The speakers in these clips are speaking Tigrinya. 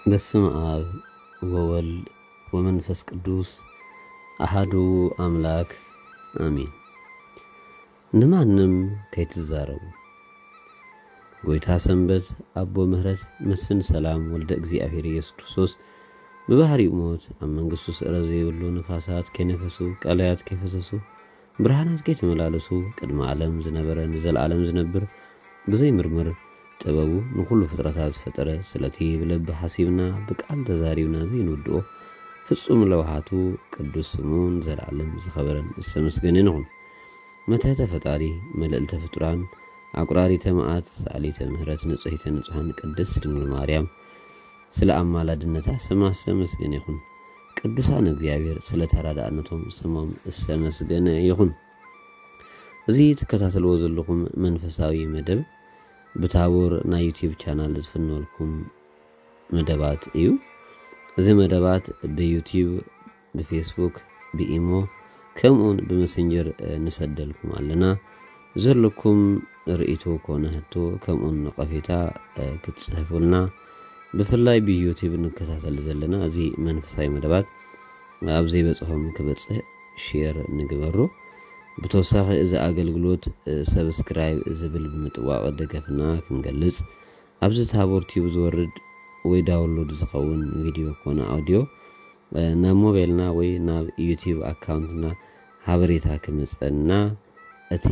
በስመ አብ ወወልድ ወመንፈስ ቅዱስ አሐዱ አምላክ አሜን። ንማንም ከይትዛረቡ። ጎይታ ሰንበት፣ ኣቦ ምህረት፣ መስፍን ሰላም፣ ወልደ እግዚኣብሔር ኢየሱስ ክርስቶስ ብባህሪኡ ሞት ኣብ መንግስቱ ስእረት ዘይብሉ፣ ንፋሳት ከይነፈሱ፣ ቀላያት ከይፈሰሱ፣ ብርሃናት ከይተመላለሱ፣ ቅድሚ ዓለም ዝነበረ፣ ንዘለዓለም ዝነብር፣ ብዘይምርምር ጥበቡ ንኹሉ ፍጥረታት ዝፈጠረ፣ ስለቲ ብልቢ ሓሲብና ብቃል ተዛሪብና ዘይንውድኦ ፍጹም ለውሃቱ ቅዱስ ስሙ ንዘለዓለም ዝኸበረን ዝተመስገነን ይኹን። መትሕተ ፈጣሪ፣ መልዕልተ ፍጡራን፣ ኣቁራሪተ መዓት፣ ሰኣሊተ ምህረት፣ ንጽሕተ ንጹሓን ቅድስት ድንግል ማርያም ስለ ኣማላድነታ ስማ ዝተመስገነ ይኹን። ቅዱሳን እግዚኣብሔር ስለ ተራዳእነቶም ስሞም ዝተመስገነ ይኹን። እዚ ትከታተልዎ ዘለኹም መንፈሳዊ መደብ ብታቦር ናይ ዩቲዩብ ቻናል ዝፍነወልኩም መደባት እዩ። እዚ መደባት ብዩቲዩብ፣ ብፌስቡክ፣ ብኢሞ ከምኡውን ብመሰንጀር፣ እ፣ ንሰደልኩም ኣለና። ዘለኩም ርእይቶ ኮነ ሕቶ ከምኡውን ነቐፌታ፣ እ፣ ክትጽሕፉልና፣ ብፍላይ ብዩቲዩብ ንከታተል ዘለና እዚ መንፈሳዊ መደባት ኣብ ዘይበጽሖም ክበጽሕ ሼር ንግበሩ። ብተወሳኺ እዚ ኣገልግሎት፣ እ፣ ሰብስክራይብ ዝብል ብምጥዋቕ ደገፍና ክንገልጽ፣ ኣብዚ ታቦር ቲዩብ ዝወርድ ወይ ዳውንሎድ ዝኸውን ቪድዮ ኮነ ኣውዲዮ፣ እ፣ ናብ ሞባይልና ወይ ናብ ዩቲዩብ ኣካውንትና ሓበሬታ ክመጸና፣ እቲ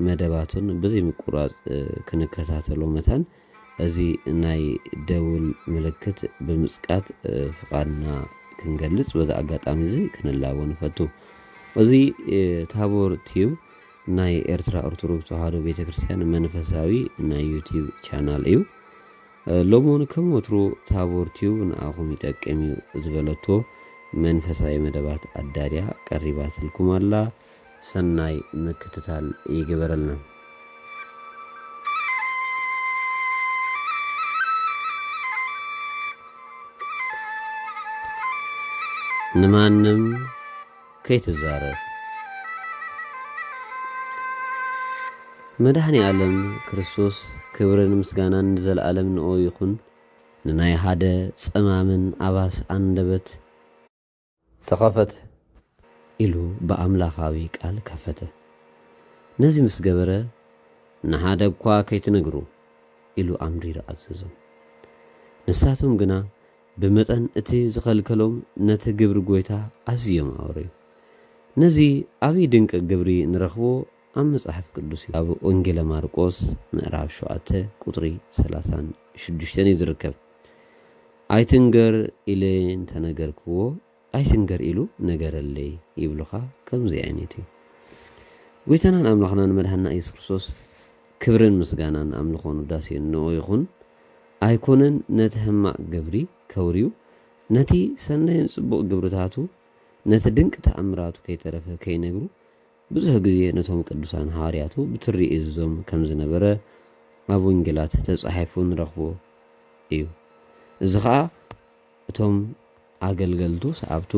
መደባቱን ብዘይ ምቁራጽ፣ እ፣ ክንከታተሎ መታን፣ እዚ ናይ ደውል ምልክት ብምጽቃት፣ እ፣ ፍቓድና ክንገልጽ በዚ ኣጋጣሚ እዚ ክንላቦ ንፈቱ። እዚ፣ እ፣ ታቦር ቲዩብ ናይ ኤርትራ ኦርቶዶክስ ተዋህዶ ቤተክርስትያን መንፈሳዊ ናይ ዩቲዩብ ቻናል እዩ። እ፣ ሎሚ እውን ከም ወትሩ ታቦር ቲዩብ ንኣኹም ይጠቅም እዩ ዝበለቶ መንፈሳዊ መደባት ኣዳልያ ቀሪባትልኩም ኣላ። ሰናይ ምክትታል ይግበረልና። ንማንም ከይትዛረብ። መድኃኔ ዓለም ክርስቶስ ክብርን ምስጋናን ንዘለዓለም ንኦ ይኹን። ንናይ ሓደ ጸማምን ኣባስ ኣንደበት ተኸፈት ኢሉ ብኣምላኻዊ ቃል ከፈተ። ነዚ ምስ ገበረ፣ ንሓደ እኳ ከይትነግሩ ኢሉ ኣምሪሩ ኣዘዞም። ንሳቶም ግና ብመጠን እቲ ዝኸልከሎም ነቲ ግብሪ ጐይታ ኣዝዮም ኣውረዩ። ነዚ ዓብዪ ድንቂ ግብሪ ንረኽቦ ኣብ መጽሓፍ ቅዱስ እዩ። ኣብ ወንጌለ ማርቆስ ምዕራፍ ሸውዓተ ቁጽሪ ሰላሳን ሽዱሽተን እዩ ዝርከብ። "ኣይትንገር ኢለ እንተነገርክዎ፣ ኣይትንገር ኢሉ ነገረለይ" ይብሉኻ። ከምዚ ዓይነት እዩ። ጐይታናን ኣምላኽናን መድኃንና ኢየሱስ ክርስቶስ ክብርን ምስጋናን ኣምልኾን ውዳሴን ንኦ ይኹን። ኣይኮነን ነቲ ሕማቕ ግብሪ ከውርዩ፣ ነቲ ሰናይን ጽቡቕ ግብርታቱ፣ ነቲ ድንቂ ተኣምራቱ ከይተረፈ ከይነግሩ፣ ብዙሕ ግዜ ነቶም ቅዱሳን ሃዋርያቱ ብትሪ ይእዝዞም ከም ዝነበረ ኣብ ወንጌላት ተጻሒፉ ንረኽቦ እዩ። እዚ ኸኣ እቶም ኣገልገልቱ፣ ሰዓብቱ፣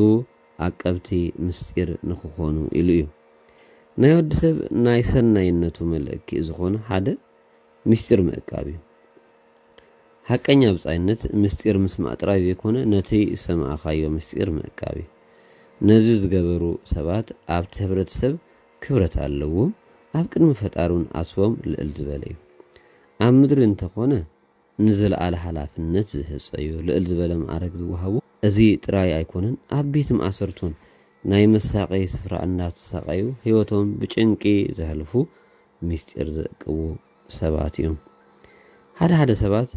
ዓቀብቲ ምስጢር ንኽኾኑ ኢሉ እዩ። ናይ ወዲ ሰብ ናይ ሰናይነቱ መለኪ ዝኾነ ሓደ ምስጢር ምእካብ እዩ። ሓቀኛ ብጻይነት ምስጢር ምስማዕ ጥራይ ዘይኮነ፣ ነቲ ዝሰማዕካዮ ምስጢር ምእካብ እዩ። ነዚ ዝገበሩ ሰባት ኣብቲ ሕብረተሰብ ክብረት ኣለዎም፣ ኣብ ቅድሚ ፈጣሪ እውን ዓስቦም ልዕል ዝበለ እዩ። ኣብ ምድሪ እንተኾነ ንዝለዓለ ሓላፍነት ዝህጸዩ፣ ልዕል ዝበለ ማዕረግ ዝወሃቡ፣ እዚ ጥራይ ኣይኮነን፣ ኣብ ቤት ማእሰርቱን ናይ መሳቀዪ ስፍራ እናተሳቀዩ ህይወቶም ብጭንቂ ዘሕልፉ ምስጢር ዘእቅቡ ሰባት እዮም። ሓደ ሓደ ሰባት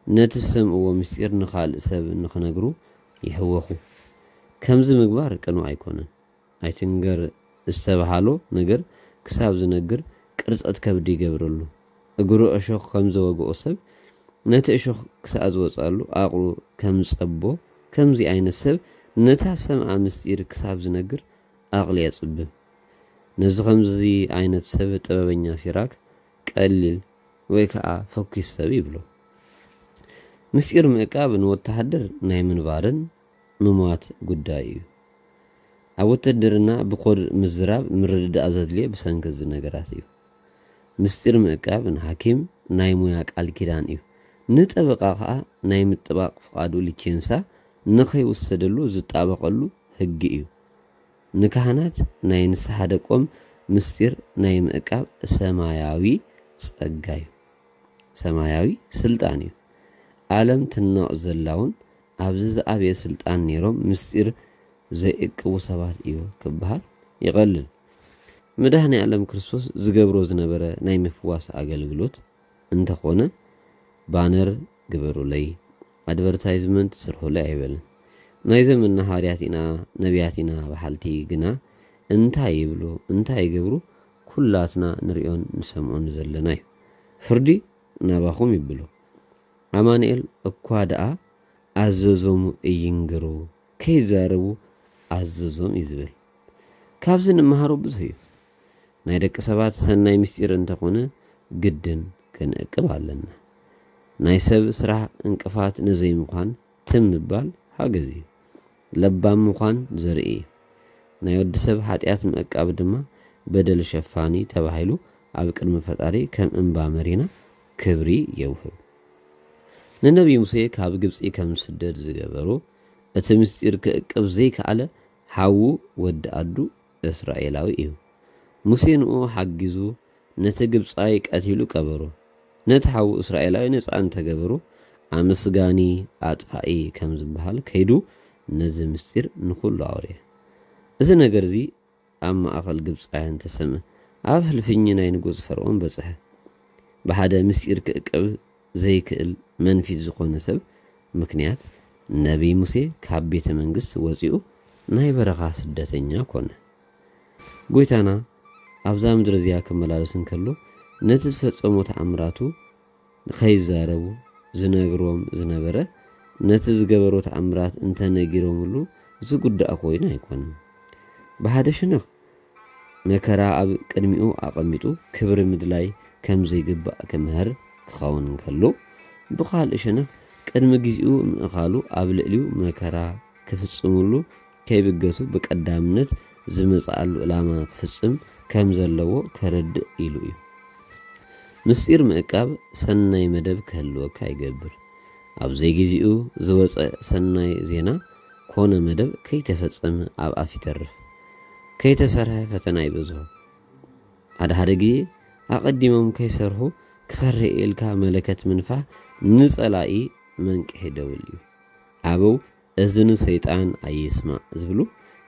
ነቲ ዝሰምዕዎ ምስጢር ንኻልእ ሰብ ንኽነግሩ ይህወኹ። ከምዚ ምግባር ቅኑዕ ኣይኮነን። ኣይትንገር ዝተብሃሎ ነገር ክሳብ ዝነግር ቅርጸት ከብዲ ይገብረሉ። እግሩ እሾኽ ከም ዝወግኦ ሰብ ነቲ እሾኽ ክሳብ ዝወጽኣሉ ዓቕሉ ከም ዝጸቦ፣ ከምዚ ዓይነት ሰብ ነታ ዝሰምዓ ምስጢር ክሳብ ዝነግር ዓቕሊ የጽብብ። ነዚ ከምዚ ዓይነት ሰብ ጥበበኛ ሲራክ ቀሊል ወይ ከኣ ፈኲስ ሰብ ይብሎ። ምስጢር ምእቃብ ንወተሃደር ናይ ምንባርን ምሟት ጉዳይ እዩ። ኣብ ውትድርና ብኮድ ምዝራብ ምርድዳእ ዘድልዮ ብሰንኪ እዚ ነገራት እዩ። ምስጢር ምእቃብ ንሓኪም ናይ ሙያ ቃል ኪዳን እዩ። ንጠበቓ ኸኣ ናይ ምጥባቕ ፍቓዱ ሊቼንሳ ንኸይውሰደሉ ዝጣበቐሉ ሕጊ እዩ። ንካህናት ናይ ንስሓ ደቆም ምስጢር ናይ ምእቃብ ሰማያዊ ጸጋ እዩ። ሰማያዊ ስልጣን እዩ። ዓለም ትናቕ ዘላ እውን ኣብዚ ዝዓበየ ስልጣን ነይሮም ምስጢር ዘይእቅቡ ሰባት እዩ ክበሃል ይቐልል። መድኃኔ ዓለም ክርስቶስ ዝገብሮ ዝነበረ ናይ ምፍዋስ ኣገልግሎት እንተኾነ ባነር ግበሩለይ፣ ኣድቨርታይዝመንት ስርሑለይ ኣይበልን። ናይ ዘመንና ሃዋርያት ኢና፣ ነቢያት ኢና በሓልቲ ግና እንታይ ይብሉ፣ እንታይ ይገብሩ ኩላትና ንሪኦን ንሰምዖን ዘለና እዩ። ፍርዲ ናባኹም ይብሉ። ኣማኑኤል እኳ ደኣ ኣዘዞም እይንግሩ፣ ከይዛረቡ ኣዘዞም እዩ ዝብል። ካብዚ ንመሃሮ ብዙሕ እዩ። ናይ ደቂ ሰባት ሰናይ ምስጢር እንተኾነ ግድን ክንእቅብ ኣለና። ናይ ሰብ ስራሕ እንቅፋት ንዘይምዃን ትም ምባል ሓገዝ እዩ። ለባም ምዃን ዘርኢ እዩ። ናይ ወዲ ሰብ ሓጢኣት ምእቃብ ድማ በደል ሸፋኒ ተባሂሉ ኣብ ቅድሚ ፈጣሪ ከም እምባ መሪና ክብሪ የውህብ። ንነቢይ ሙሴ ካብ ግብጺ ከም ስደድ ዝገበሩ እቲ ምስጢር ክእቅብ ዘይከኣለ ሓዉ ወዲ ኣዱ እስራኤላዊ እዩ። ሙሴ ንኡ ሓጊዙ ነቲ ግብጻይ ቀቲሉ ቀበሮ። ነቲ ሓዉ እስራኤላዊ ነጻ እንተገበሩ ኣመስጋኒ ኣጥፋኢ ከም ዝበሃል ከይዱ ነዚ ምስጢር ንኹሉ ኣውርየ። እዚ ነገር እዚ ኣብ ማእኸል ግብጻውያን ተሰምዐ። ኣብ ህልፍኝ ናይ ንጉጽ ፈርዖን በጽሐ። ብሓደ ምስጢር ክእቅብ ዘይክእል መንፊት ዝኾነ ሰብ ምክንያት ነቢይ ሙሴ ካብ ቤተ መንግስት ወጺኡ ናይ በረኻ ስደተኛ ኮነ። ጎይታና ኣብዛ ምድሪ እዚኣ ክመላለስ እንከሎ ነቲ ዝፈጸሞ ተኣምራቱ ከይዛረቡ ዝነግሮም ዝነበረ ነቲ ዝገበሮ ተኣምራት እንተነጊሮምሉ ዝጉዳእ ኮይኑ ኣይኮነን። ብሓደ ሸነኽ መከራ ኣብ ቅድሚኡ ኣቐሚጡ ክብሪ ምድላይ ከም ዘይግባእ ክምህር ክኸውን እንከሎ፣ ብኻልእ ሸነኽ ቅድሚ ግዜኡ ምእኻሉ ኣብ ልዕሊኡ መከራ ክፍጽምሉ ከይብገሱ ብቀዳምነት ዝመጽኣሉ ዕላማ ክፍጽም ከም ዘለዎ ከረድእ ኢሉ እዩ። ምስጢር ምእቃብ ሰናይ መደብ ክህልወካ ይገብር። ኣብ ዘይግዜኡ ዝወጸ ሰናይ ዜና ኮነ መደብ ከይተፈጸመ ኣብ ኣፍ ይተርፍ። ከይተሰርሐ ፈተና ይበዝሖ። ሓደ ሓደ ግዜ ኣቐዲሞም ከይሰርሑ ክሰርሕ ኢልካ መለከት ምንፋሕ ንጸላኢ መንቅሒ ደውል እዩ። ኣበው እዝኒ ሰይጣን ኣይስማዕ ዝብሉ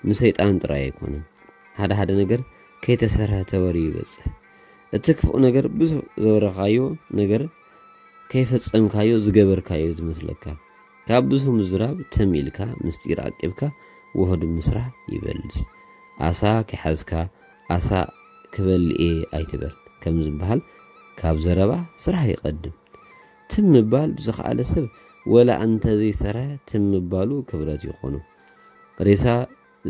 ንሰይጣን ጥራይ ኣይኮነን። ሓደ ሓደ ነገር ከይተሰርሐ ተወርዩ ይበጽሕ። እቲ ክፉእ ነገር ብዙሕ ዘወረኻዮ ነገር ከይፈጸምካዮ ዝገበርካዮ ዝመስለካ። ካብ ብዙሕ ምዝራብ ትም ኢልካ ምስጢር ዓቂብካ ውሑድ ምስራሕ ይበልጽ። ኣሳ ከይሓዝካ ኣሳ ክበልእ እየ ኣይትበል ከም ዝበሃል ካብ ዘረባ ስራሕ ይቐድም። ትም ምባል ዝኸኣለ ሰብ ወላ እንተዘይሰርሐ ትም ምባሉ ክብረት ይኾኖ። ሬሳ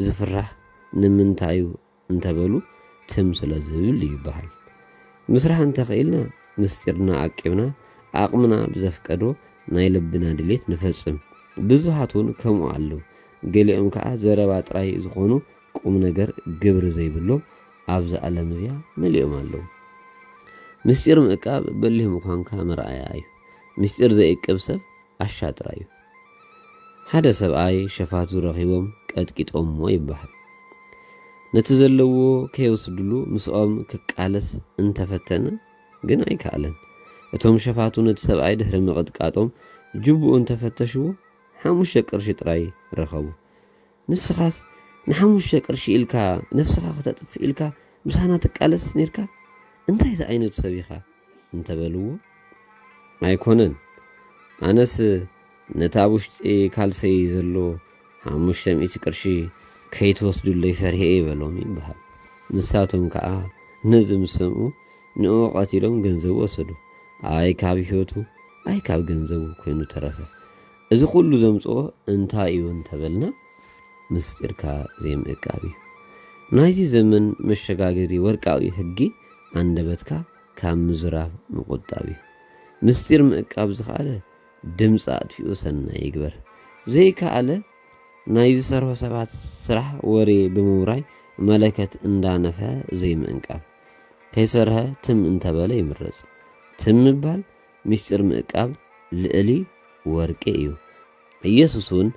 ዝፍራሕ ንምንታይ እዩ እንተበሉ ትም ስለ ዝብል ይበሃል። ምስራሕ እንተኽኢልና ምስጢርና ዓቂብና ዓቕምና ብዘፍቀዶ ናይ ልብና ድሌት ንፈጽም። ብዙሃት እውን ከምኡ ኣለዉ። ገሊኦም ከኣ ዘረባ ጥራይ ዝኾኑ ቁም ነገር ግብሪ ዘይብሎም ኣብዛ ዓለም እዚኣ መሊኦም ኣለዉ። ምስጢር ምእቃብ በሊህ ምዃንካ መርኣያ እዩ። ምስጢር ዘይእቅብ ሰብ ዓሻ ጥራይ እዩ። ሓደ ሰብኣይ ሸፋቱ ረኺቦም ቀጥቂጦምዎ ይበሃል። ነቲ ዘለዎ ከይወስድሉ ምስኦም ክቃለስ እንተፈተነ ግን ኣይከኣለን። እቶም ሸፋቱ ነቲ ሰብኣይ ድሕሪ ምቕጥቃጦም ጅቡኡ እንተፈተሽዎ ሓሙሽተ ቅርሺ ጥራይ ረኸቡ። ንስኻስ ንሓሙሽተ ቅርሺ ኢልካ ነፍስኻ ከተጥፍእ ኢልካ ምሳና ትቃለስ ነይርካ? እንታይ ዝዓይነቱ ሰብ ኢኻ? እንተበልዎ፣ ኣይኮነን፣ ኣነስ ነቲ ኣብ ውሽጢ ካልሰይ ዘሎ ሓሙሽተ ሚእቲ ቅርሺ ከይትወስዱለይ ፈሪሀ እየ በሎም ይበሃል። ንሳቶም ከዓ ነዚ ምስ ሰምዑ ንኡ ቀቲሎም ገንዘቡ ወሰዱ። ኣይ ካብ ህይወቱ ኣይ ካብ ገንዘቡ ኮይኑ ተረፈ። እዚ ኩሉ ዘምፅኦ እንታይ እዩ እንተበልና ምስጢርካ ዘይምእቃብ እዩ። ናይዚ ዘመን መሸጋገሪ ወርቃዊ ህጊ ኣንደበትካ ካብ ምዝራብ ምቁጣብ እዩ። ምስጢር ምእቃብ ዝኸኣለ ድምፂ ኣጥፊኡ ሰናይ ይግበር። ዘይከኣለ ናይ ዝሰርሑ ሰባት ስራሕ ወሬ ብምውራይ መለከት እንዳነፈ ዘይምእንቃብ። ከይሰርሐ ትም እንተበለ ይምረፅ። ትም ምባል ምስጢር ምእቃብ ልእሊ ወርቂ እዩ። ኢየሱስ እውን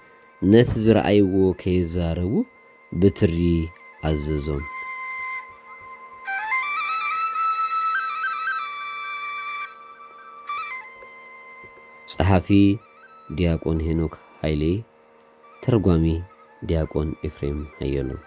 ነቲ ዝረኣይዎ ከይዛረቡ ብትሪ ኣዘዞም። ጸሓፊ ዲያቆን ሄኖክ ሃይሌ፣ ተርጓሚ ዲያቆን ኤፍሬም ሃየሎም።